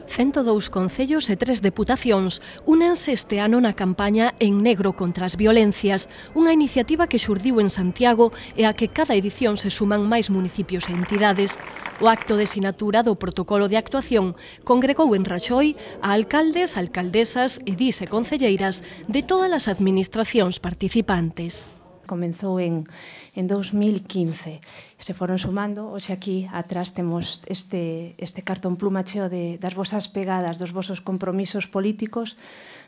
102 concellos e 3 deputacións únense este ano na campaña En Negro contra as Violencias, unha iniciativa que xurdiu en Santiago e a que cada edición se suman máis municipios e entidades. O acto de sinatura do protocolo de actuación congregou en Raxoi a alcaldes, alcaldesas, edís e concelleiras de todas as administracións participantes. Comenzou en 2015. Se foron sumando, hoxe aquí atrás temos este cartón pluma cheo das vosas pegadas, dos vosos compromisos políticos,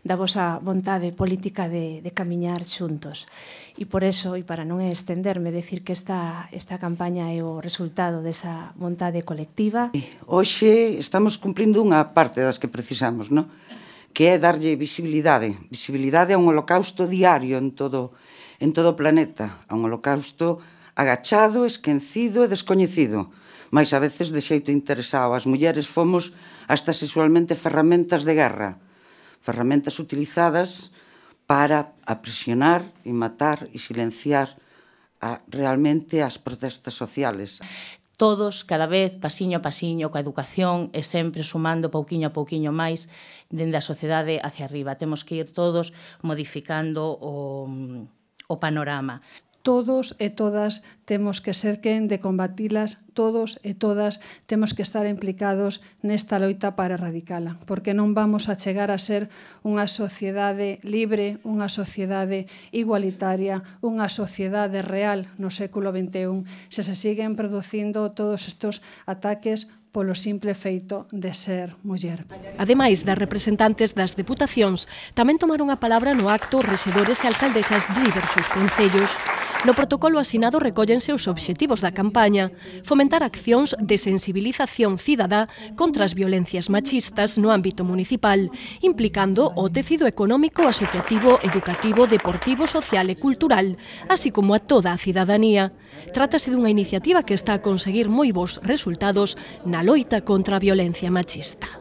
da vosa vontade política de camiñar xuntos. E por eso, e para non estenderme, decir que esta campaña é o resultado desa vontade colectiva. Hoxe estamos cumprindo unha parte das que precisamos, non? Que é darlle visibilidade a un holocausto diario en todo o planeta, a un holocausto agachado, esquecido e descoñecido, mais a veces de xeito interesado. As mulleres fomos hasta sexualmente ferramentas de guerra, ferramentas utilizadas para aprisionar e matar e silenciar realmente as protestas sociales. Todos, cada vez, pasiño a pasiño, coa educación e sempre sumando pouquiño a pouquiño máis dende a sociedade hacia arriba. Temos que ir todos modificando o panorama. Todos e todas temos que ser quen de combatilas, todos e todas temos que estar implicados nesta loita para erradicala, porque non vamos a chegar a ser unha sociedade libre, unha sociedade igualitaria, unha sociedade real no século XXI, se siguen producindo todos estes ataques polo simple feito de ser muller. Ademais das representantes das deputacións, tamén tomaron a palabra no acto rexedores e alcaldesas de diversos concellos. No protocolo asinado recóllense os obxectivos da campaña, fomentar accións de sensibilización cidadá contra as violencias machistas no ámbito municipal, implicando o tecido económico, asociativo, educativo, deportivo, social e cultural, así como a toda a cidadanía. Trátase dunha iniciativa que está a conseguir moi bons resultados na loita contra a violencia machista.